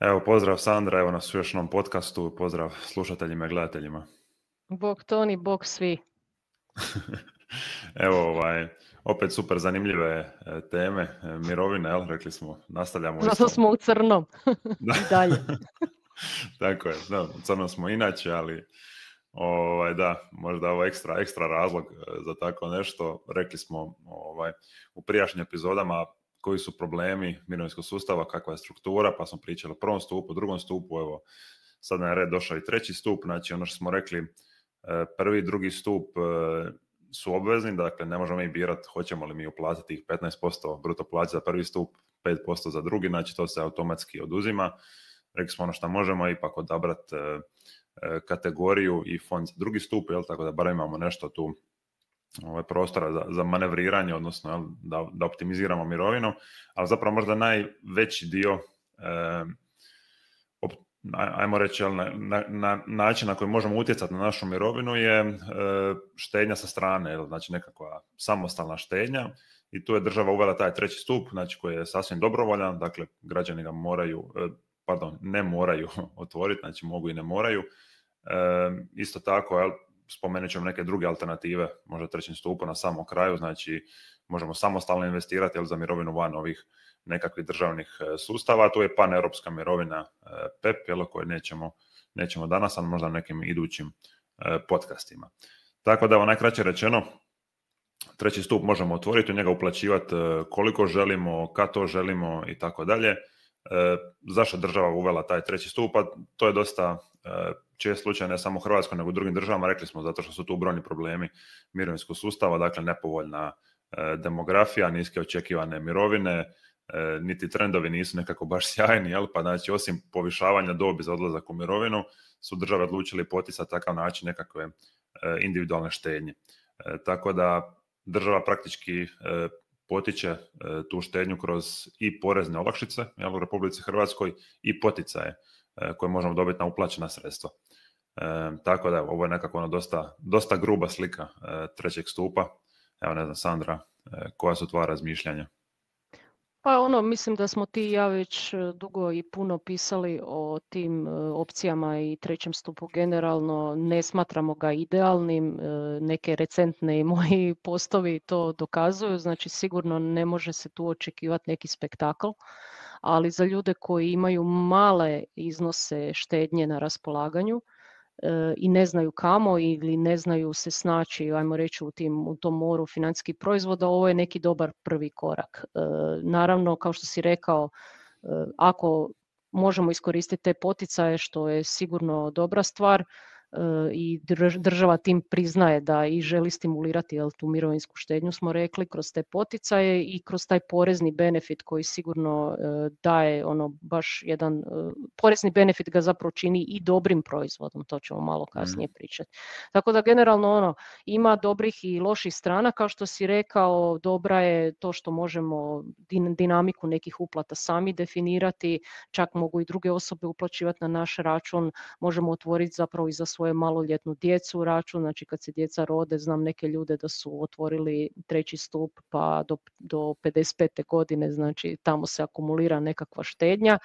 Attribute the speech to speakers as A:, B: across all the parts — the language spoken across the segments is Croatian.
A: Evo, pozdrav Sandra, evo nas u još jednom podcastu, pozdrav slušateljima i gledateljima.
B: Bog Toni, bog svi.
A: Evo, opet super zanimljive teme, mirovine, jel, rekli smo, nastavljamo
B: Zato smo u crnom i dalje.
A: Tako je, da, u crnom smo inače, ali da, možda ovo ekstra razlog za tako nešto. Rekli smo u prijašnjim epizodama koji su problemi mirovinskog sustava, kakva je struktura, pa smo pričali o prvom stupu, drugom stupu, evo, sad na red došao i treći stup, znači ono što smo rekli, prvi i drugi stup su obvezni, dakle ne možemo mi birati hoćemo li mi uplatiti tih 15% bruto plaće za prvi stup, 5% za drugi, znači to se automatski oduzima. Rekli smo ono što možemo ipak odabrati kategoriju i fond za drugi stup, jel, tako da barem imamo nešto tu prostora za manevriranje, odnosno da optimiziramo mirovinu, ali zapravo možda najveći dio ajmo reći, na način na koji možemo utjecati na našu mirovinu je štednja sa strane, znači nekakva samostalna štednja, i tu je država uvela taj treći stup, znači koji je sasvim dobrovoljan, dakle građani ga ne moraju otvoriti, znači mogu i ne moraju. Isto tako, spomenut ćemo neke druge alternative, možda trećem stupu na samom kraju, znači možemo samostalno investirati za mirovinu van ovih nekakvih državnih sustava. Tu je paneuropska mirovina PEP, koju nećemo danas, ali možda nekim idućim podcastima. Tako da, najkraće rečeno, treći stup možemo otvoriti, u njega uplaćivati koliko želimo, kad to želimo i tako dalje. Zašto država uvela taj treći stup? To je dosta čest slučaj, ne samo u Hrvatskoj, nego u drugim državama. Rekli smo zato što su tu brojni problemi mirovinskog sustava, dakle nepovoljna demografija, niske očekivane mirovine, niti trendovi nisu nekako baš sjajni, pa znači osim povišavanja dobi za odlazak u mirovinu su države odlučili poticati takav način nekakve individualne štednje. Tako da država praktički potiče tu štednju kroz i porezne olakšice u Republici Hrvatskoj i poticaje koje možemo dobiti na uplaćena sredstva. Tako da ovo je nekako dosta gruba slika trećeg stupa. Evo, ne znam, Sandra, koja su tvoja razmišljanja?
B: Pa mislim da smo ti i ja već dugo i puno pisali o tim opcijama i trećem stupu generalno. Ne smatramo ga idealnim, neke recentne i moji postovi to dokazuju, znači sigurno ne može se tu očekivati neki spektakl, ali za ljude koji imaju male iznose štednje na raspolaganju i ne znaju kamo ili ne znaju se snaći, ajmo reći, u tom moru financijskih proizvoda, ovo je neki dobar prvi korak. Naravno, kao što si rekao, ako možemo iskoristiti te poticaje, što je sigurno dobra stvar, i država tim priznaje da i želi stimulirati tu mirovinsku štednju, smo rekli, kroz te poticaje i kroz taj porezni benefit koji sigurno daje baš jedan porezni benefit ga zapravo čini i dobrim proizvodom, to ćemo malo kasnije pričati. Tako da generalno ima dobrih i loših strana, kao što si rekao, dobra je to što možemo dinamiku nekih uplata sami definirati, čak mogu i druge osobe uplaćivati na naš račun, možemo otvoriti zapravo i za svoje maloljetnu djecu račun, znači kad se djeca rode, znam neke ljude da su otvorili treći stup pa do 55. godine, znači tamo se akumulira nekakva štednja,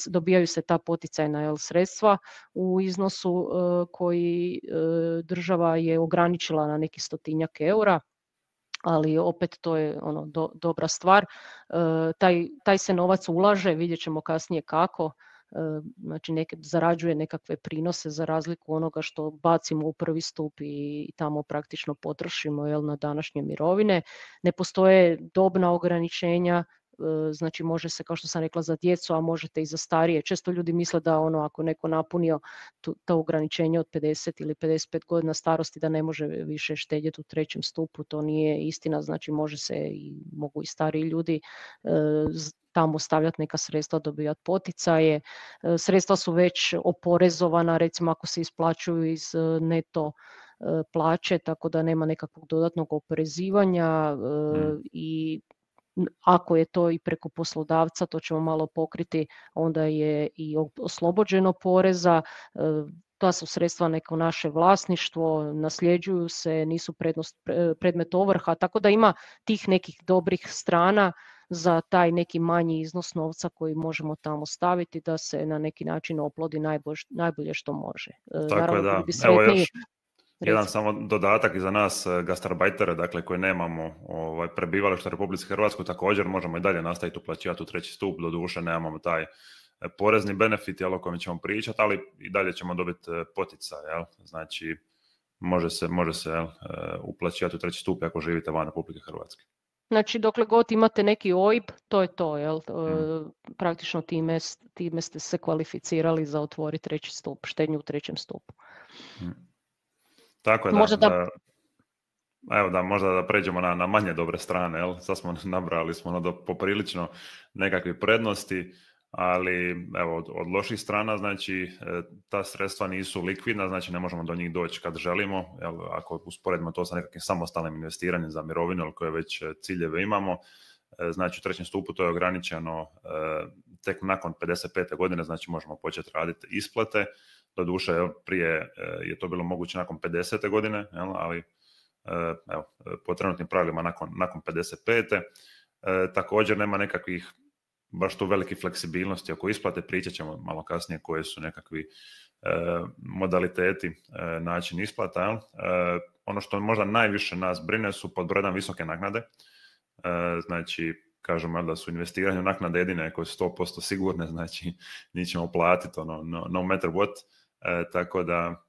B: dobijaju se ta poticajna sredstva u iznosu koji država je ograničila na neki 100-tinjak eura, ali opet to je dobra stvar. Taj se novac ulaže, vidjet ćemo kasnije kako, znači zarađuje nekakve prinose za razliku onoga što bacimo u prvi stup i tamo praktično potrošimo na današnje mirovine. Ne postoje dobna ograničenja, znači može se, kao što sam rekla, za djecu, a možete i za starije. Često ljudi misle da ako neko napunio to ograničenje od 50 ili 55 godina starosti da ne može više štedjeti u trećem stupu, to nije istina, znači mogu i stariji ljudi tamo stavljati neka sredstva, dobivati poticaje. Sredstva su već oporezovana, recimo ako se isplaćuju iz neto plaće, tako da nema nekakvog dodatnog oporezivanja i ako je to i preko poslodavca, to ćemo malo pokriti, onda je i oslobođeno poreza. Ta su sredstva neko naše vlasništvo, nasljeđuju se, nisu predmet ovrha, tako da ima tih nekih dobrih strana za taj neki manji iznos novca koji možemo tamo staviti da se na neki način oplodi najbolje što može.
A: Tako je,
B: Naravno,
A: da.
B: bili bi
A: Evo
B: sretniji.
A: još jedan
B: Recimo.
A: samo dodatak i za nas gastarbajtere, dakle koji nemamo prebivalište u Republici Hrvatskoj, također možemo i dalje nastaviti uplaćivati u treći stup, doduše nemamo taj porezni benefit o kojem ćemo pričati, ali i dalje ćemo dobiti poticaj, znači može se uplaćivati u treći stup ako živite van Republike Hrvatske.
B: Znači, dokle god imate neki OIB, to je to, jel? Praktično time ste se kvalificirali za otvoriti treći stup, štednju u trećem stupu.
A: Tako je, možda da pređemo na manje dobre strane, jel? Sad smo nabrali poprilično nekakve prednosti, ali evo, od loših strana, znači ta sredstva nisu likvidna, znači ne možemo do njih doći kad želimo, jel? Ako usporedimo to sa nekakvim samostalnim investiranjem za mirovinu, koje već ciljeve imamo, znači u trećem stupu to je ograničeno tek nakon 55. godine, znači možemo početi raditi isplate, doduše prije je to bilo moguće nakon 50. godine, jel? Ali evo, po trenutnim pravilima nakon 55. Također nema nekakvih baš tu velike fleksibilnosti oko isplate, pričat ćemo malo kasnije koje su nekakvi modaliteti, način isplata. Jel? Ono što možda najviše nas brine su pod brojem visoke naknade, znači kažemo da su investiranje naknade jedine koje su 100% sigurne, znači njih ćemo platiti no matter what, tako da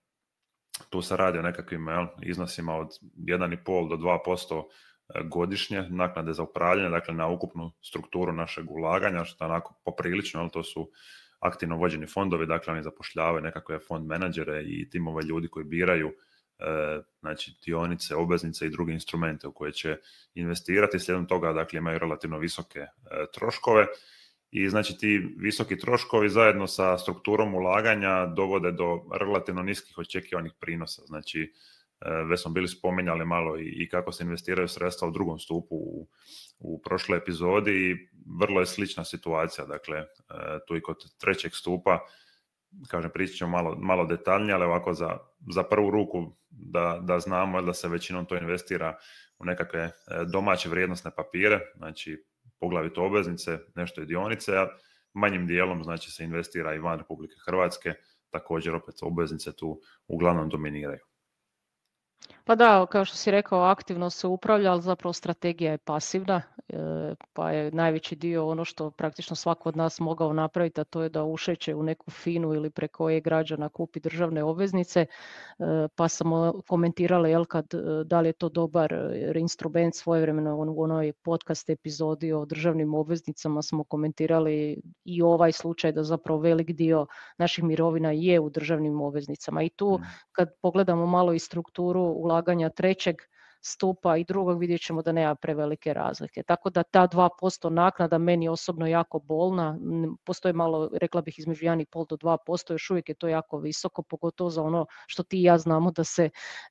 A: tu se radi o nekakvim iznosima od 1,5 do 2% godišnje naknade za upravljanje, dakle na ukupnu strukturu našeg ulaganja, što je onako poprilično, to su aktivno vođeni fondovi, dakle oni zapošljavaju nekakve fond menadžere i timove ljudi koji biraju znači dionice, obveznice i druge instrumente u koje će investirati, slijedom toga dakle imaju relativno visoke troškove i znači ti visoki troškovi zajedno sa strukturom ulaganja dovode do relativno niskih očekivanih prinosa, znači već smo bili spominjali malo i kako se investiraju sredstva u drugom stupu u prošloj epizodi i vrlo je slična situacija, dakle tu i kod trećeg stupa, kažem pričat ćemo malo detaljnije, ali ovako za prvu ruku da znamo da se većinom to investira u nekakve domaće vrijednosne papire, znači poglavito obveznice, nešto i dionice, a manjim dijelom znači se investira i van Republike Hrvatske, također opet obveznice tu uglavnom dominiraju.
B: Pa da, kao što si rekao, aktivno se upravlja, ali zapravo strategija je pasivna, pa je najveći dio ono što praktično svako od nas mogao napraviti, a to je da ušeće u neku FINU ili preko e-građana kupi državne obveznice, pa smo komentirali da li je to dobar instrument. Svojevremeno u onoj podcast epizodi o državnim obveznicama smo komentirali i ovaj slučaj da zapravo velik dio naših mirovina je u državnim obveznicama i tu kad pogledamo malo i strukturu ulaganja trećeg stupa i drugog, vidjet ćemo da nema prevelike razlike. Tako da ta 2% naknada meni osobno jako bolna, postoji malo, rekla bih, između 1,5 do 2%, još uvijek je to jako visoko, pogotovo za ono što ti i ja znamo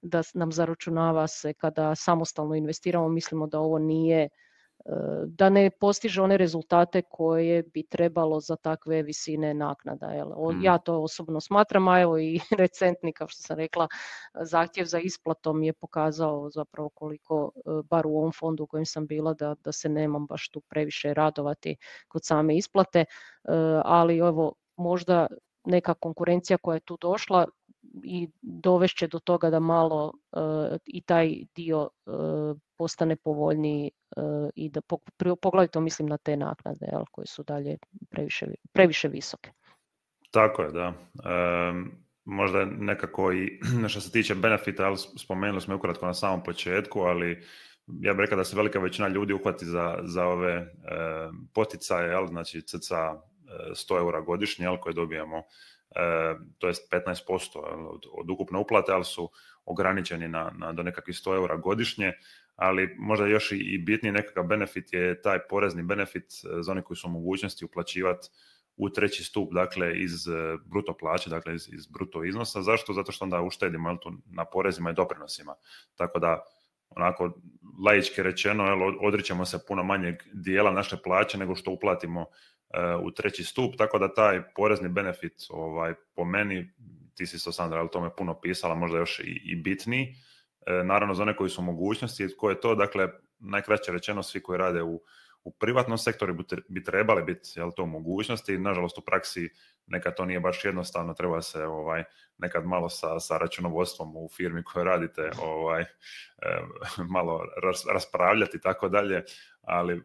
B: da nam zaračunava se kada samostalno investiramo, mislimo da ovo nije, da ne postiže one rezultate koje bi trebalo za takve visine naknada. Ja to osobno smatram, a evo i recentni, kao što sam rekla, zahtjev za isplatom je pokazao zapravo koliko, bar u ovom fondu u kojem sam bila, da se nemam baš tu previše radovati kod same isplate, ali evo možda neka konkurencija koja je tu došla i dovešće do toga da malo i taj dio postane povoljniji i da poglavito mislim na te naknade koje su dalje previše visoke.
A: Tako je, da. Možda nekako i što se tiče benefita, ali spomenuli smo ukratko na samom početku, ali ja bih rekao da se velika većina ljudi uhvati za ove poticaje, znači cca 100 eura godišnje koje dobijamo, to je 15% od ukupne uplate, ali su ograničeni do nekakvih 100 eura godišnje, ali možda još i bitniji nekakav benefit je taj porezni benefit za one koji su u mogućnosti uplaćivati u treći stup, dakle iz bruto plaće, dakle iz bruto iznosa. Zašto? Zato što onda uštedimo na porezima i doprinosima. Tako da, onako laički rečeno, odričemo se puno manjeg dijela naše plaće nego što uplatimo u treći stup, tako da taj porezni benefit po meni, ti si to, Sandra, o tome puno pisala, možda još i bitniji. Naravno za one koji su u mogućnosti, ko je to, dakle najkraće rečeno svi koji rade U privatnom sektoru bi trebali biti to mogućnosti, nažalost u praksi nekad to nije baš jednostavno, treba se nekad malo sa računovodstvom u firmi koje radite malo raspravljati i tako dalje, ali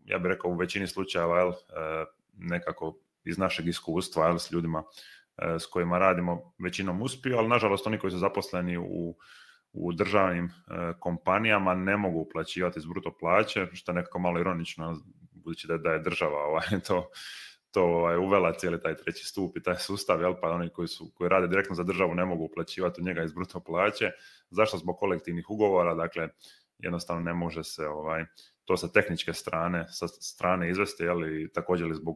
A: ja bih rekao u većini slučajeva nekako iz našeg iskustva s ljudima s kojima radimo većinom uspiju, ali nažalost oni koji su zaposleni u državnim kompanijama ne mogu uplaćivati iz bruto plaće, što je nekako malo ironično, budući da je država to uvela cijeli taj treći stup i taj sustav, pa oni koji rade direktno za državu ne mogu uplaćivati u njega iz bruto plaće. Zašto? Zbog kolektivnih ugovora, dakle jednostavno ne može se to sa tehničke strane izvesti, također zbog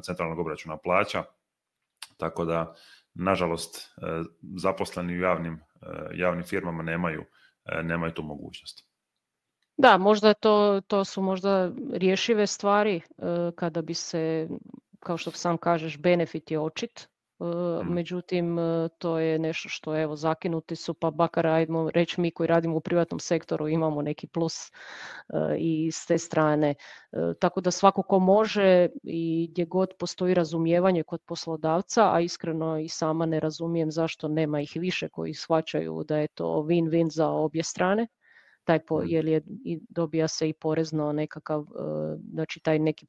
A: centralnog obračuna plaća, tako da nažalost zaposleni u javnim firmama nemaju tu mogućnost.
B: Da, možda to su možda rješive stvari kada bi se, kao što sam kažeš, benefit je očit. Međutim, to je nešto što evo zakinuti su, pa bakar ajmo reći mi koji radimo u privatnom sektoru imamo neki plus i s te strane. Tako da svako ko može i gdje god postoji razumijevanje kod poslodavca, a iskreno i sama ne razumijem zašto nema ih više koji shvaćaju da je to win-win za obje strane. Jer dobija se i porezno nekakav, znači taj neki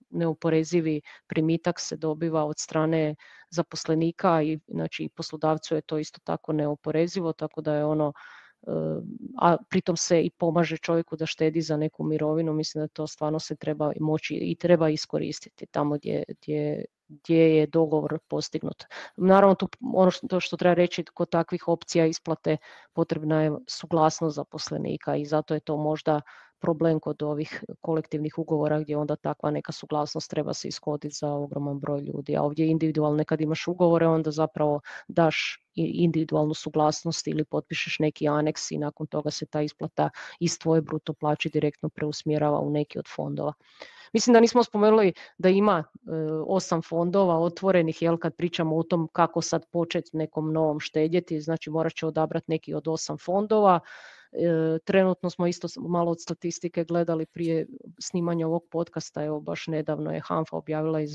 B: neoporezivi primitak se dobiva od strane zaposlenika i znači poslodavcu je to isto tako neoporezivo, tako da je a pritom se i pomaže čovjeku da štedi za neku mirovinu. Mislim da to stvarno se treba moći i treba iskoristiti tamo gdje je dogovor postignut. Naravno, što treba reći, kod takvih opcija isplate potrebna je suglasnost zaposlenika i zato je to možda problem kod ovih kolektivnih ugovora gdje onda takva neka suglasnost treba se ishoditi za ogroman broj ljudi. A ovdje individualno, kad imaš ugovore, onda zapravo daš individualnu suglasnost ili potpišeš neki aneks i nakon toga se ta isplata iz tvoje bruto plaće direktno preusmjerava u neki od fondova. Mislim da nismo spomenuli da ima 8 fondova otvorenih, kad pričamo o tom kako sad početi nekom novom štedjeti, znači morat će odabrati neki od 8 fondova. Trenutno smo isto malo od statistike gledali prije snimanja ovog podcasta, evo baš nedavno je HANFA objavila i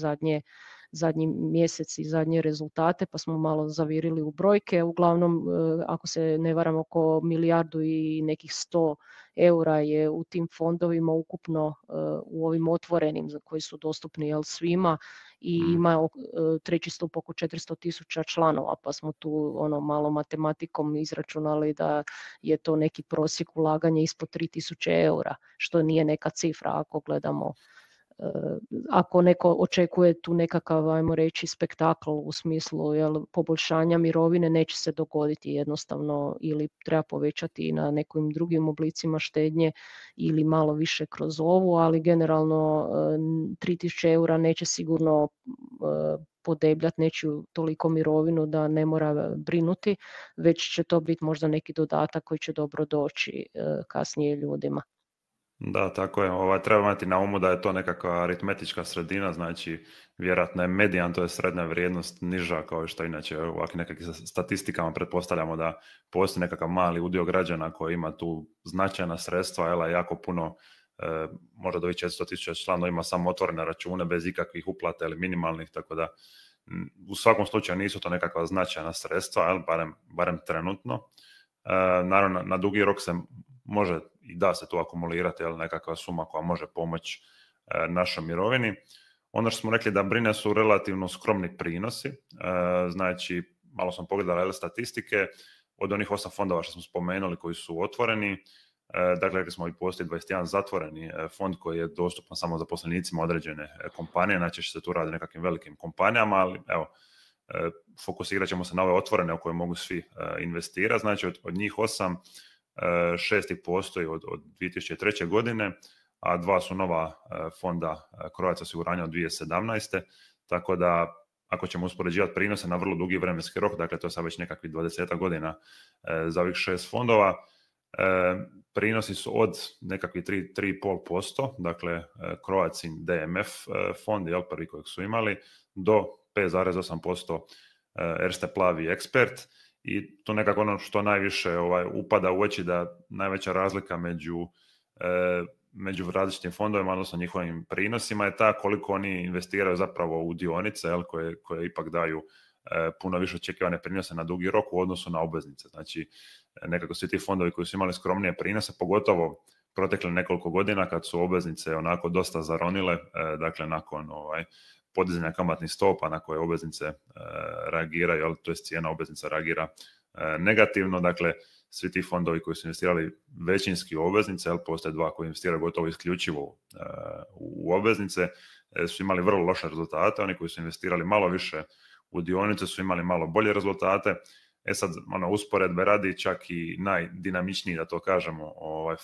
B: zadnji mjesec i zadnje rezultate, pa smo malo zavirili u brojke. Uglavnom, ako se ne varam, oko milijardu i nekih 100 eura je u tim fondovima ukupno u ovim otvorenim koji su dostupni svima i ima treći stup oko 400.000 članova, pa smo tu malo matematikom izračunali da je to neki prosjek ulaganja ispod 3.000 eura, što nije neka cifra ako gledamo. Ako neko očekuje tu nekakav, ajmo reći, spektakl u smislu poboljšanja mirovine, neće se dogoditi jednostavno, ili treba povećati na nekim drugim oblicima štednje ili malo više kroz ovu, ali generalno 3.000 eura neće sigurno podebljati nečiju toliko mirovinu da ne mora brinuti, već će to biti možda neki dodatak koji će dobro doći kasnije ljudima.
A: Da, tako je. Treba imati na umu da je to nekakva aritmetička sredina, znači vjerojatno je medijan, to je srednja vrijednost niža, kao što inače u ovakvim nekakvim statistikama pretpostavljamo da postoji nekakav mali udio građana koji ima tu značajna sredstva, jako puno, možda do 400.000 članova ima samo otvorene račune bez ikakvih uplata ili minimalnih, tako da u svakom slučaju nisu to nekakva značajna sredstva, barem trenutno. Naravno, na dugi rok se može i da se tu akumulirati nekakva suma koja može pomoći našoj mirovini. Ono što smo rekli da brine su relativno skromni prinosi, znači malo sam pogledala statistike od onih 8 fondova što smo spomenuli koji su otvoreni. Dakle, rekli smo i postoji 21 zatvoreni fond koji je dostupan samo zaposlenicima određene kompanije, znači će se tu radi o nekakvim velikim kompanijama, ali evo, fokusirat ćemo se na ove otvorene u koje mogu svi investirati. Znači od njih 8, 6 ih postoji od 2003. godine, a 2 su nova fonda Croatia osiguranja od 2017. Tako da ako ćemo uspoređivati prinose na vrlo dugi vremenski rok, dakle to je sad već nekakvih 20 godina za ovih 6 fondova, prinosi su od nekakvih 3,5%, dakle Croatin DMF fond, prvi kojeg su imali, do 5,8% Erste Plavi Expert. I to nekako ono što najviše upada u oči da najveća razlika među među različitim fondovima, odnosno njihovim prinosima, je ta koliko oni investiraju zapravo u dionice, koje ipak daju puno više očekivane prinose na dugi rok u odnosu na obveznice. Znači, nekako svi ti fondovi koji su imali skromnije prinose, pogotovo protekle nekoliko godina kad su obveznice onako dosta zaronile, dakle nakon podizanja kamatnih stopa na koje obveznice reagiraju, to je cijena obveznica reagira negativno, dakle svi ti fondovi koji su investirali većinski u obveznice, postoje dva koji investiraju gotovo isključivo u obveznice, su imali vrlo loše rezultate. Oni koji su investirali malo više u dionice su imali malo bolje rezultate. Sad, usporedbe radi, čak i najdinamičniji, da to kažemo,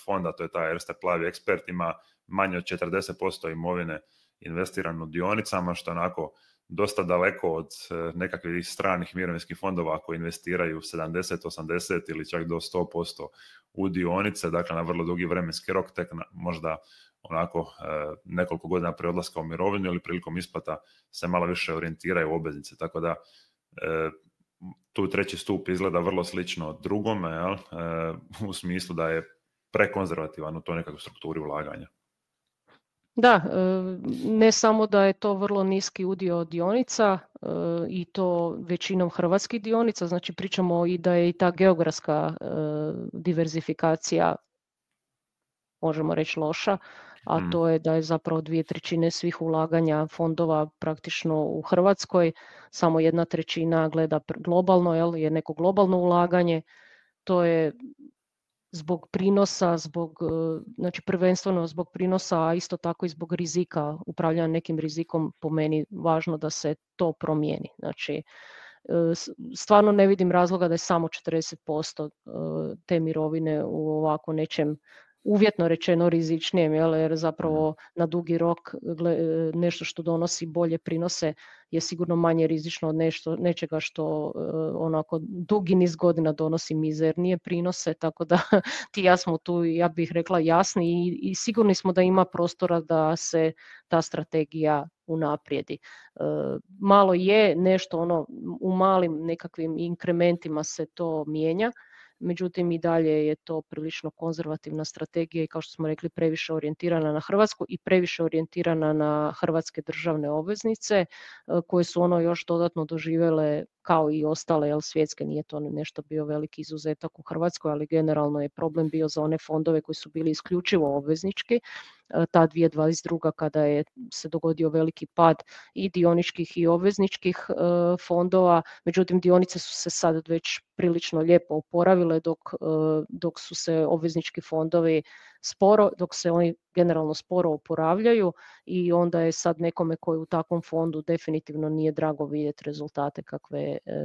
A: fond, a to je taj Erste Plavi Ekspert, ima manje od 40% imovine investirano u dionicama, što je onako dosta daleko od nekakvih stranih mirovinskih fondova koji investiraju 70, 80 ili čak do 100% u dionice, dakle na vrlo dugi vremenski rok, tek možda onako nekoliko godina prije odlaska u mirovinu ili prilikom isplata se malo više orijentiraju u obveznice, tako da tu treći stup izgleda vrlo slično drugome, u smislu da je prekonzervativan u toj nekakvoj strukturi ulaganja.
B: Da, ne samo da je to vrlo niski udio dionica i to većinom hrvatskih dionica, znači pričamo i da je i ta geografska diverzifikacija, možemo reći, loša, a to je da je zapravo 2/3 svih ulaganja fondova praktično u Hrvatskoj, samo 1/3 gleda globalno, je neko globalno ulaganje. To je zbog prinosa, znači prvenstveno zbog prinosa, a isto tako i zbog rizika, upravljanja nekim rizikom, po meni važno da se to promijeni. Znači, stvarno ne vidim razloga da je samo 40% te mirovine u ovako nečem uvjetno rečeno rizičnijem, jer zapravo na dugi rok nešto što donosi bolje prinose je sigurno manje rizično od nečega što onako dugi niz godina donosi mizernije prinose, tako da ti ja smo tu, ja bih rekla, jasni i sigurni smo da ima prostora da se ta strategija unaprijedi. Malo je nešto u malim nekakvim inkrementima se to mijenja, međutim i dalje je to prilično konzervativna strategija i kao što smo rekli previše orijentirana na Hrvatsku i previše orijentirana na hrvatske državne obveznice koje su još dodatno doživjele kao i ostale svjetske, nije to nešto bio veliki izuzetak u Hrvatskoj, ali generalno je problem bio za one fondove koji su bili isključivo obveznički. Ta 2022. kada je se dogodio veliki pad i dioničkih i obvezničkih fondova, međutim dionice su se sad već prilično lijepo oporavile dok su se obveznički fondovi dok se oni generalno sporo oporavljaju i onda je sad nekome koji u takvom fondu definitivno nije drago vidjeti rezultate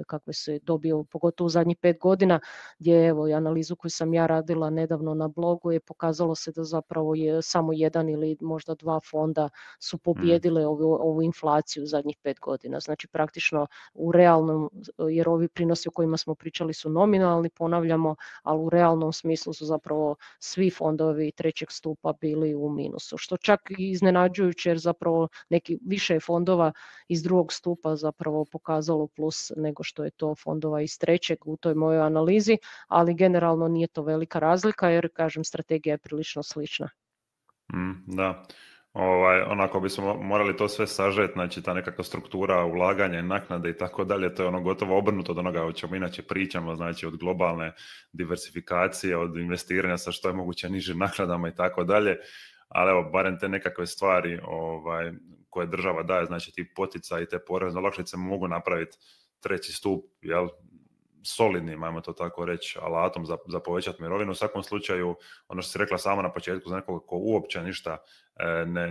B: kakve se dobio, pogotovo u zadnjih 5 godina, gdje evo i analizu koju sam ja radila nedavno na blogu je pokazalo se da zapravo je samo jedan ili možda 2 fonda su pobijedile ovu inflaciju u zadnjih 5 godina. Znači praktično u realnom, jer ovi prinosi o kojima smo pričali su nominalni, ponavljamo, ali u realnom smislu su zapravo svi fondovi trećeg stupa bili u minusu, što čak i iznenađujuće jer zapravo neki više fondova iz drugog stupa zapravo pokazalo plus nego što je to fondova iz trećeg u toj mojoj analizi, ali generalno nije to velika razlika jer, kažem, strategija je prilično slična.
A: Da. Onako bismo morali to sve sažeti, znači ta nekakva struktura ulaganja, naknade i tako dalje, to je gotovo obrnuto od onoga o čemu inače pričamo, znači od globalne diversifikacije, od investiranja sa što je moguće nižim naknadama i tako dalje, ali evo, barem te nekakve stvari koje država daje, znači ti poticaji i te porezne olakšice mogu napraviti treći stup, solidnim, ajmo to tako reći, alatom za povećati mirovinu. U svakom slučaju, ono što si rekla sama na početku, za nekoga ko uopće ništa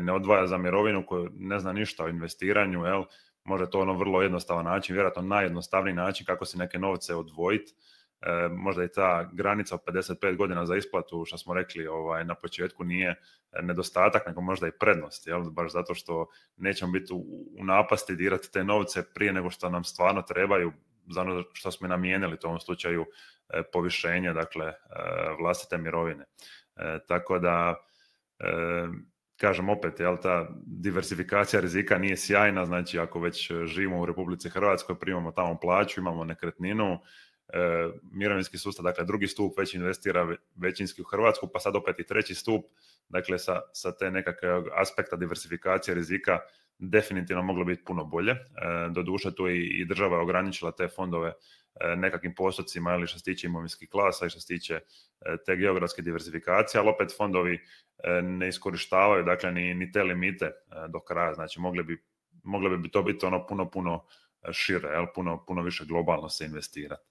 A: ne odvaja za mirovinu, koji ne zna ništa o investiranju, može to vrlo jednostavan način, vjerojatno najjednostavniji način kako si neke novce odvojiti. Možda i ta granica od 55 godina za isplatu, što smo rekli na početku, nije nedostatak, nego možda i prednost, baš zato što nećemo biti u napasti dirati te novce prije nego što nam stvarno trebaju za ono što smo namijenili, to u ovom slučaju povišenje, dakle, vlastite mirovine. Tako da, kažem opet, ta diversifikacija rizika nije sjajna, znači ako već živimo u Republici Hrvatskoj, primamo tamo plaću, imamo nekretninu, mirovinski sustav, dakle drugi stup već investira većinski u Hrvatsku, pa sad opet i treći stup, dakle sa te nekakve aspekta diversifikacije rizika definitivno moglo biti puno bolje. Doduše tu i država je ograničila te fondove nekakvim postocima, ili što se tiče imovinskih klasa i što se tiče te geografske diversifikacije, ali opet fondovi ne iskorištavaju dakle ni te limite do kraja, znači mogli bi to biti ono puno šire, jel? Puno više globalno se investirati.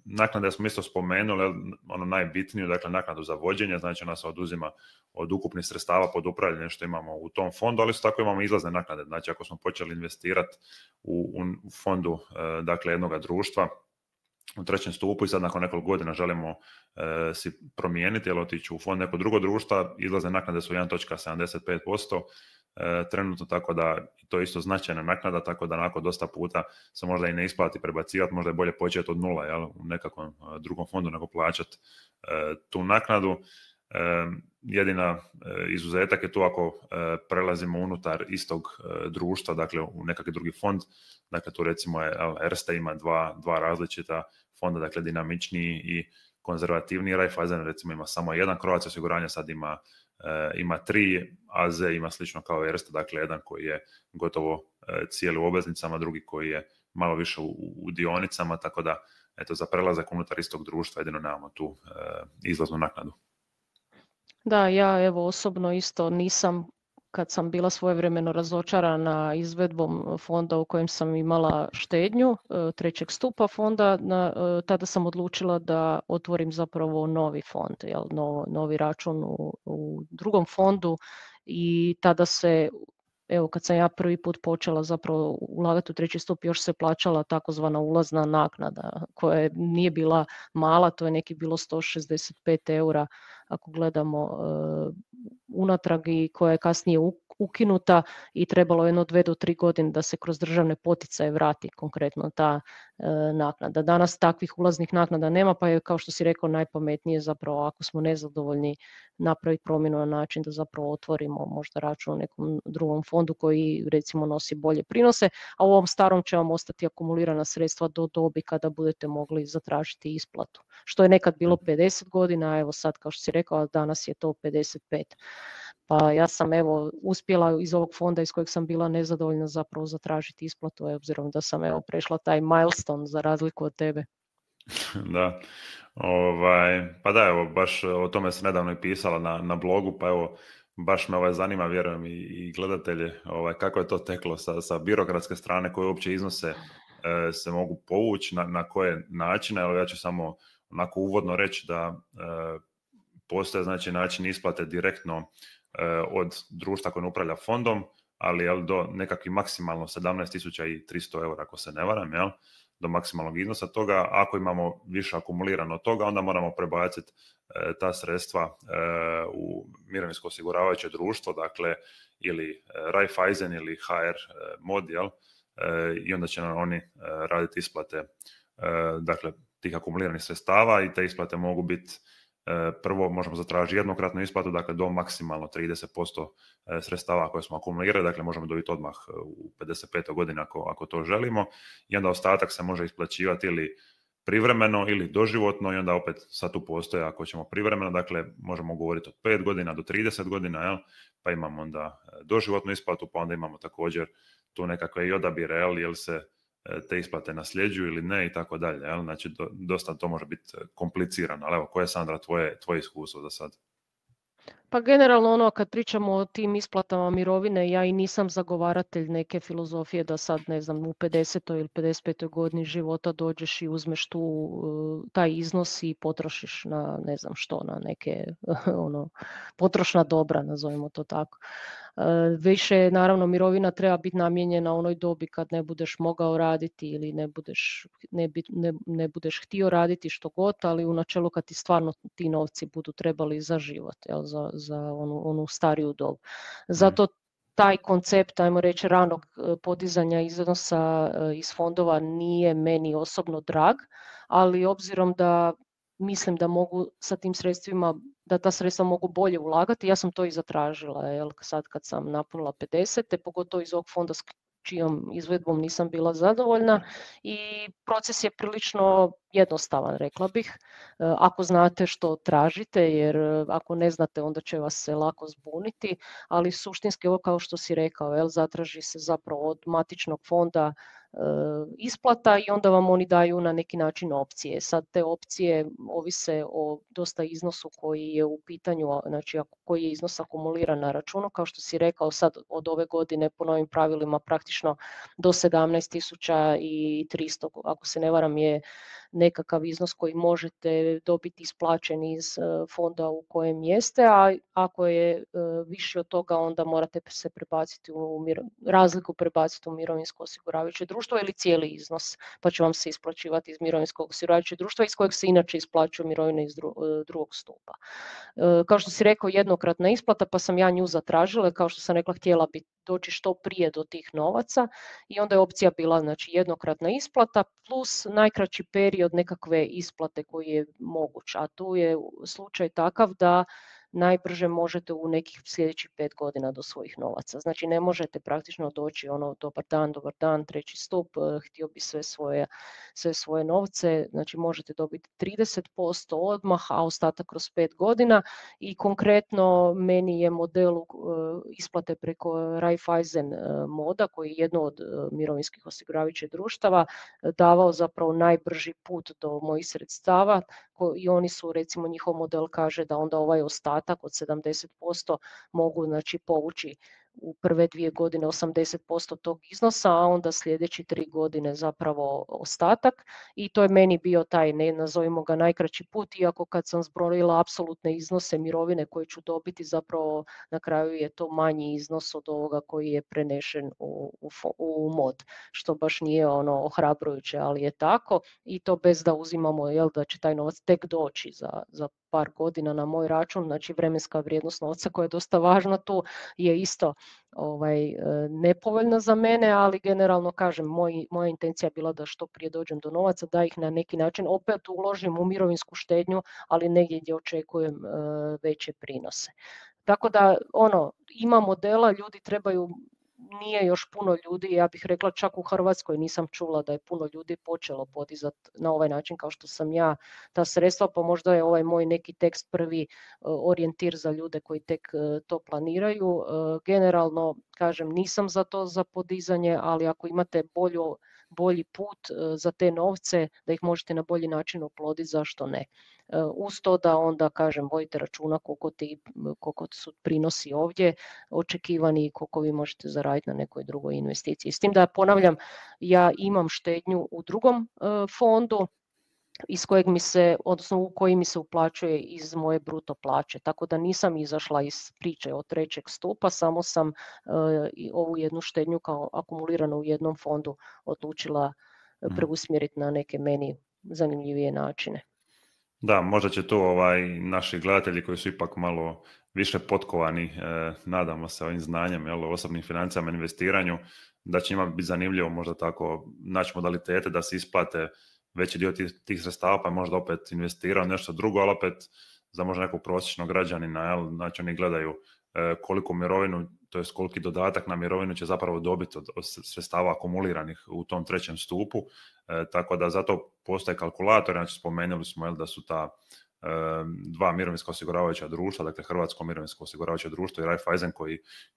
A: Naknade smo isto spomenuli, ono najbitniju, dakle naknadu za vođenje, znači ona se oduzima od ukupnih sredstava pod upravljanje što imamo u tom fondu, ali isto tako imamo izlazne naknade, znači ako smo počeli investirati u fondu dakle jednoga društva u trećem stupu i sad nakon nekoliko godina želimo si promijeniti ili otići u fond neko drugo društva, izlazne naknade su 1,75% trenutno, tako da to je isto značajna naknada, tako da nakon dosta puta se možda i ne isplati prebacivati, možda je bolje početi od nula, jel, u nekakvom drugom fondu nego plaćati tu naknadu. Jedina izuzetak je tu ako prelazimo unutar istog društva, dakle u nekakvi drugi fond, dakle tu recimo Erste ima dva različita fonda, dakle dinamičniji i konzervativniji. Raiffeisen recimo ima samo jedan, Croatia osiguranje sad ima tri, AZ ima slično kao Erste, dakle jedan koji je gotovo cijeli u obveznicama, drugi koji je malo više u dionicama, tako da eto, za prelazak unutar istog društva jedino nemamo tu izlaznu naknadu.
B: Da, ja evo osobno isto nisam, kad sam bila svojevremeno razočarana izvedbom fonda u kojem sam imala štednju trećeg stupa fonda, tada sam odlučila da otvorim zapravo novi fond, novi račun u drugom fondu i tada se, evo kad sam ja prvi put počela zapravo ulagati u treći stup, još se plaćala takozvana ulazna naknada koja nije bila mala, to je neki bilo 165 eura ako gledamo unatrag i koja je kasnije ukinuta i trebalo 1, 2 do 3 godine da se kroz državne poticaje vrati konkretno ta naknada. Danas takvih ulaznih naknada nema, pa je kao što si rekao najpametnije zapravo ako smo nezadovoljni napraviti promjenu na način da zapravo otvorimo možda račun u nekom drugom fondu koji recimo nosi bolje prinose, a u ovom starom će vam ostati akumulirana sredstva do dobi kada budete mogli zatražiti isplatu. Što je nekad bilo 50 godina, a evo sad kao što si rekao, a danas je to 55. Pa ja sam evo uspjela iz ovog fonda iz kojeg sam bila nezadovoljna zapravo zatražiti isplatu, obzirom da sam evo prešla taj milestone za razliku od tebe.
A: Da, pa da, evo, baš o tome se nedavno i pisala na blogu, pa evo, baš me zanima, vjerujem i gledatelje, kako je to teklo sa birokratske strane, koje uopće iznose se mogu povući, na koje načine. Evo, ja ću samo onako uvodno reći da postoje znači način isplate direktno od društva koje upravlja fondom, ali do nekakvih maksimalno 17.300 eura ako se ne varam, jel? Do maksimalnog iznosa toga. Ako imamo više akumulirano od toga, onda moramo prebaciti ta sredstva u mirovinsko osiguravajuće društvo, dakle ili Raiffeisen ili HR mod, jel? I onda će nam oni raditi isplate dakle tih akumuliranih sredstava i te isplate mogu biti prvo možemo zatražiti jednokratnu isplatu, dakle do maksimalno 30% sredstava koje smo akumulirali, dakle možemo dobiti odmah u 55. godini ako to želimo, i onda ostatak se može isplaćivati ili privremeno ili doživotno, i onda opet sad tu postoje ako ćemo privremeno, dakle možemo govoriti od 5 godina do 30 godina, jel? Pa imamo onda doživotnu isplatu, pa onda imamo također tu nekakve i odabire, jel se te isplate nasljeđuju ili ne i tako dalje. Znači, dosta to može biti komplicirano. Ali evo, koje je, Sandra, tvoje iskustvo za sad?
B: Pa generalno kad pričamo o tim isplatama mirovine, ja i nisam zagovaratelj neke filozofije da sad, ne znam, u 50. ili 55. godini života dođeš i uzmeš taj iznos i potrošiš na ne znam što, na neke potrošna dobra, nazovimo to tako. Više, naravno, mirovina treba biti namijenjena onoj dobi kad ne budeš mogao raditi ili ne budeš htio raditi što god, ali u načelu kad ti stvarno ti novci budu trebali za život, za onu stariju dobu. Zato taj koncept, ajmo reći, ranog podizanja iznosa iz fondova nije meni osobno drag, ali obzirom da mislim da mogu sa tim sredstvima, da ta sredstva mogu bolje ulagati, ja sam to i zatražila, sad kad sam napunila 50, pogotovo iz ovog fonda čijom izvedbom nisam bila zadovoljna i proces je prilično jednostavan, rekla bih, ako znate što tražite, jer ako ne znate onda će vas se lako zbuniti, ali suštinski ovo kao što si rekao, zatraži se zapravo od matičnog fonda isplata i onda vam oni daju na neki način opcije. Sad te opcije ovise o dosta iznosu koji je u pitanju, znači koji je iznos akumuliran na računu, kao što si rekao sad od ove godine po novim pravilima praktično do 17.300, ako se ne varam, je nekakav iznos koji možete dobiti isplaćen iz fonda u kojem jeste, a ako je više od toga onda morate se prebaciti razliku prebaciti u mirovinsko osiguravajuće društvo ili cijeli iznos, pa će vam se isplaćivati iz mirovinskog osiguravajućeg društva iz kojeg se inače isplaćuju mirovine iz drugog stupa. Kao što si rekao, jednokratna isplata, pa sam ja nju zatražila, kao što sam rekla, htjela bi doći što prije do tih novaca i onda je opcija bila znači jednokratna isplata plus najkraći period nekakve isplate koji je moguć, a tu je slučaj takav da najbrže možete u nekih sljedećih 5 godina do svojih novaca. Znači ne možete praktično doći dobar dan, treći stup, htio bi sve svoje novce, znači možete dobiti 30% odmah, a ostatak kroz 5 godina i konkretno meni je model isplate preko Raiffeisen moda, koji je jedno od mirovinskih osiguravajućih društava, davao zapravo najbrži put do mojih sredstava i oni su, recimo njihov model kaže da onda ovaj ostatak od 70% mogu znači povući u prve 2 godine 80% tog iznosa, a onda sljedeći 3 godine zapravo ostatak i to je meni bio taj, nazovimo ga, najkraći put, iako kad sam zbrojila apsolutne iznose mirovine koje ću dobiti, zapravo na kraju je to manji iznos od ovoga koji je prenešen u mod, što baš nije ohrabrujuće, ali je tako i to bez da uzimamo da će taj novac tek doći za par godina na moj račun, znači vremenska vrijednost novca koja je dosta važna tu je isto nepovoljna za mene, ali generalno kažem, moja intencija je bila da što prije dođem do novaca, da ih na neki način opet uložim u mirovinsku štednju, ali negdje gdje očekujem veće prinose. Tako da ima modela, ljudi trebaju, nije još puno ljudi, ja bih rekla čak u Hrvatskoj nisam čula da je puno ljudi počelo podizati na ovaj način kao što sam ja ta sredstva, pa možda je ovaj moj neki tekst prvi orijentir za ljude koji tek to planiraju. Generalno, kažem, nisam za to za podizanje, ali ako imate bolji put za te novce, da ih možete na bolji način oploditi, zašto ne? Uz to da onda, kažem, vodite računa koliko su prinosi ovdje očekivani i koliko vi možete zaraditi na nekoj drugoj investiciji. S tim da ponavljam, ja imam štednju u drugom fondu iz kojeg u koji mi se uplaćuje iz moje bruto plaće. Tako da nisam izašla iz priče od trećeg stupa, samo sam ovu jednu štednju kao akumuliranu u jednom fondu odlučila preusmjeriti na neke meni zanimljivije načine.
A: Da, možda će tu naši gledatelji koji su ipak malo više potkovani, nadamo se ovim znanjem, o osobnim financijama, investiranju, da će njima biti zanimljivo možda tako naći modalitete da se isplate veći dio tih sredstava, pa možda opet investirao nešto drugo, ali opet za možda nekog prosječnog građanina, znači oni gledaju koliko mirovinu, to jest koliki dodatak na mirovinu će zapravo dobiti od sredstava akumuliranih u tom trećem stupu, tako da zato postoje kalkulator, znači spomenuli smo da su ta dva mirovinska osiguravajuća društva, dakle Hrvatsko mirovinsko osiguravajuće društvo i Raiffeisen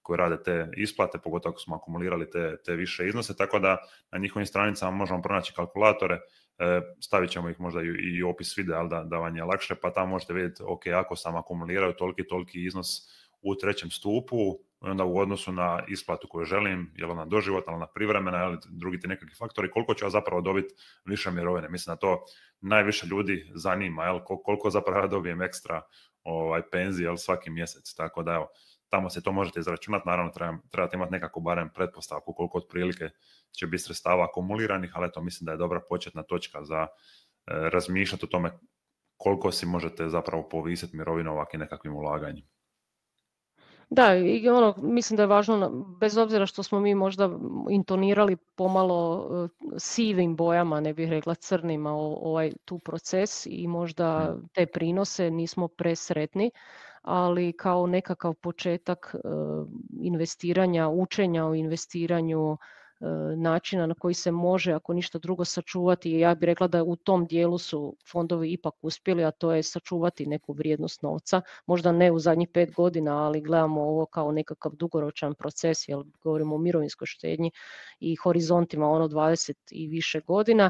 A: koji rade te isplate, pogotovo ako smo akumulirali te više iznose, tako da na njihovim stranicama možemo pronaći kalkulatore, stavit ćemo ih možda i opis videa da vam je lakše, pa tamo možete vidjeti, ok, ako sam akumulirao toliki iznos u trećem stupu, onda u odnosu na isplatu koju želim, je li ona doživotna, ona privremena, ili drugi ti nekakvi faktori, koliko ću ja zapravo dobiti više mirovine. Mislim da to najviše ljudi zanima, koliko zapravo ja dobijem ekstra penzije svaki mjesec. Tako da evo, tamo se to možete izračunati, naravno trebate imati nekako barem pretpostavku koliko otprilike će biti sredstava akumuliranih, ali eto, mislim da je dobra početna točka za razmišljati o tome koliko si možete zapravo povisiti mirovinu ovakvim nekakvim ulaganjem.
B: Da, i mislim da je važno, bez obzira što smo mi možda intonirali pomalo sivim bojama, ne bih rekla crnima, tu proces i možda te prinose nismo presretni, ali kao nekakav početak investiranja, učenja o investiranju, načina na koji se može, ako ništa drugo, sačuvati. Ja bih rekla da u tom dijelu su fondovi ipak uspjeli, a to je sačuvati neku vrijednost novca. Možda ne u zadnjih 5 godina, ali gledamo ovo kao nekakav dugoročan proces, jer govorimo o mirovinskoj štednji i horizontima 20 i više godina.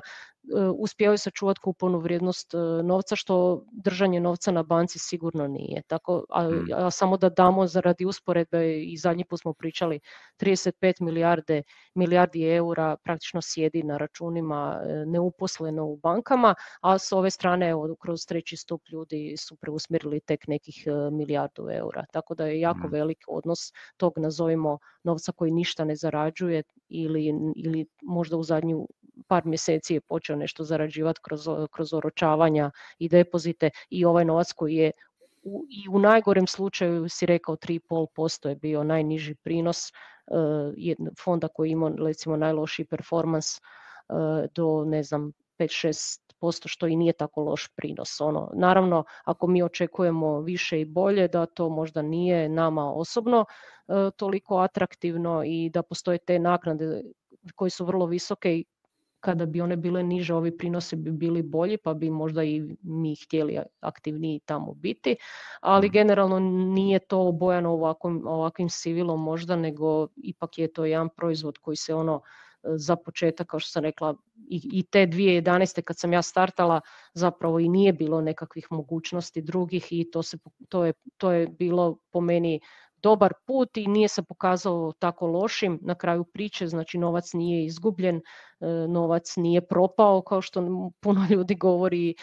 B: Uspijevaju sačuvati kupovnu vrijednost novca, što držanje novca na banci sigurno nije. Tako, a samo da damo zaradi usporedbe, i zadnji put smo pričali, 35 milijardi eura praktično sjedi na računima neuposleno u bankama, a s ove strane kroz treći stup ljudi su preusmjerili tek nekih milijardu eura. Tako da je jako velik odnos tog, nazovimo, novca koji ništa ne zarađuje ili možda u zadnju par mjeseci je počeo nešto zarađivati kroz oročavanja i depozite, i ovaj novac koji je i u najgorem slučaju, si rekao, 3,5% je bio najniži prinos fonda koji ima recimo najlošiji performans do, ne znam, 5-6%, što i nije tako loš prinos. Naravno, ako mi očekujemo više i bolje, da to možda nije nama osobno toliko atraktivno i da postoje te naknade koje su vrlo visoke, i kada bi one bile niže, ovi prinosi bi bili bolji, pa bi možda i mi htjeli aktivniji tamo biti, ali generalno nije to obojano ovakvim sivilom možda, nego ipak je to jedan proizvod koji se za početak, kao što sam rekla, i te 2011. kad sam ja startala, zapravo i nije bilo nekakvih mogućnosti drugih, i to je bilo po meni dobar put i nije se pokazao tako lošim na kraju priče. Znači, novac nije izgubljen, novac nije propao kao što puno ljudi govori,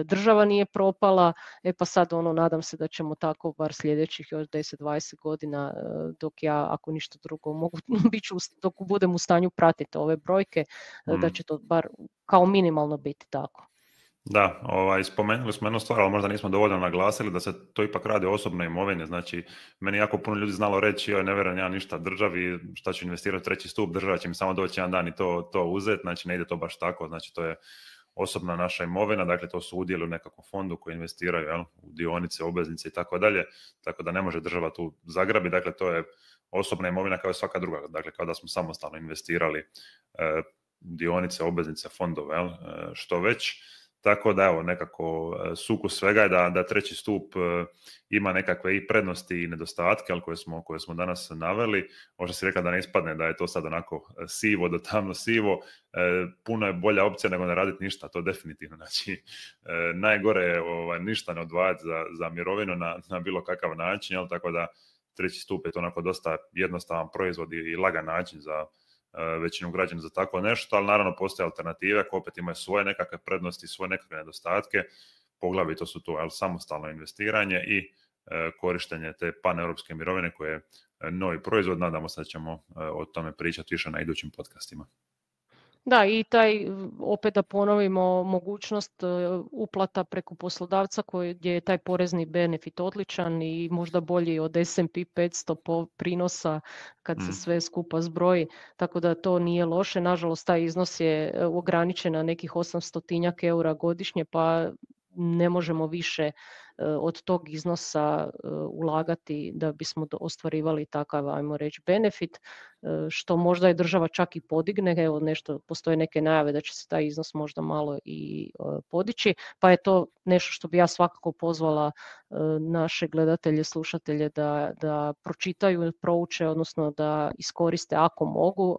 B: država nije propala. Pa sad nadam se da ćemo tako bar sljedećih još 10-20 godina, dok ja, ako ništa drugo, dok budem u stanju pratiti ove brojke, da će to bar kao minimalno biti tako.
A: Da, spomenuli smo jednu stvar, ali možda nismo dovoljno naglasili da se to ipak radi o osobnoj imovini. Znači, meni jako puno ljudi znalo reći, ne vjerujem ja ništa državi, šta ću investirati u treći stup, država će mi samo doći jedan dan i to uzeti. Znači, ne ide to baš tako. Znači, to je osobna naša imovina, dakle to su udjeli u nekakvom fondu koji investiraju u dionice, obveznice i tako dalje, tako da ne može država tu zagrabiti. Dakle, to je osobna imovina kao i svaka druga, dakle kao da smo samostalno investirali dionice, obveznice, fondove, što već. Tako da evo, nekako sukus svega je da treći stup ima nekakve i prednosti i nedostatke, ali koje smo danas naveli. Možda si rekla da ne ispadne da je to sad onako sivo do tamno sivo. Puno je bolja opcija nego ne raditi ništa, to definitivno. Znači, najgore je ništa ne odvajati za mirovinu na bilo kakav način, jel? Tako da treći stup je to onako dosta jednostavan proizvod i lagan način za većinu građana za tako nešto, ali naravno postoje alternative koje opet imaju svoje nekakve prednosti, svoje nekakve nedostatke. Poglavito su to samostalno investiranje i korištenje te paneuropske mirovine koje je novi proizvod. Nadamo se da ćemo o tome pričati više na idućim podcastima.
B: Da, i opet da ponovimo, mogućnost uplata preko poslodavca gdje je taj porezni benefit odličan i možda bolji od S&P 500 prinosa kad se sve skupa zbroji, tako da to nije loše. Nažalost, taj iznos je ograničen na nekih 800 eura godišnje, pa ne možemo više od tog iznosa ulagati da bismo ostvarivali takav, ajmo reći, benefit, što možda je država čak i podigne. Evo, postoje neke najave da će se taj iznos možda malo i podići, pa je to nešto što bi ja svakako pozvala naše gledatelje, slušatelje da pročitaju, prouče, odnosno da iskoriste ako mogu.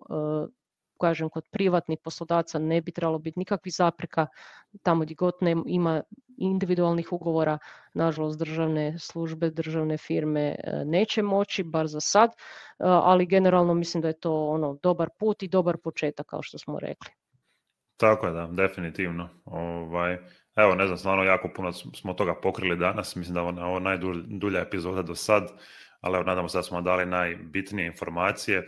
B: Kažem, kod privatnih poslodavca ne bi trebalo biti nikakvih zapreka, tamo gdje god ima individualnih ugovora, nažalost državne službe, državne firme neće moći, bar za sad, ali generalno mislim da je to dobar put i dobar početak, kao što smo rekli.
A: Tako je, da, definitivno. Evo, ne znam, stvarno jako puno smo toga pokrili danas, mislim da je ovo najdulja epizoda do sad, ali evo, nadamo se da smo dali najbitnije informacije.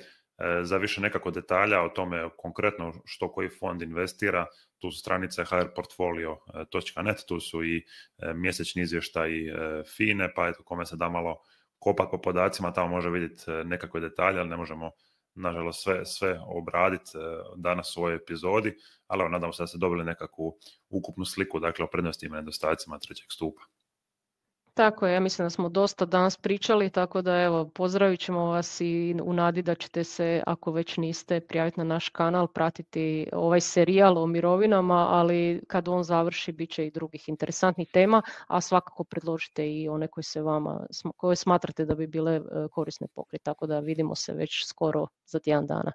A: Za više nekako detalja o tome konkretno što koji fond investira, tu su stranice hrportfolio.net, tu su i mjesečni izvještaji FINE, pa eto, kome se da malo kopati po podacima, tamo može vidjeti nekakve detalje, ali ne možemo nažalost sve obraditi danas u ovoj epizodi, ali evo, nadamo se da ste dobili nekakvu ukupnu sliku, dakle, o prednostima i nedostacima trećeg stupa.
B: Tako je, ja mislim da smo dosta danas pričali, tako da evo, pozdravit ćemo vas i u nadi da ćete se, ako već niste, prijaviti na naš kanal, pratiti ovaj serijal o mirovinama, ali kad on završi bit će i drugih interesantnih tema, a svakako predložite i one koje smatrate da bi bile korisne pokriti, tako da vidimo se već skoro za tjedan dana.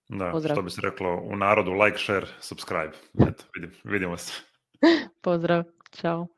A: Da,
B: Pozdrav.
A: što bi se reklo u narodu, like, share, subscribe. Eto, vidimo se.
B: Pozdrav, čao.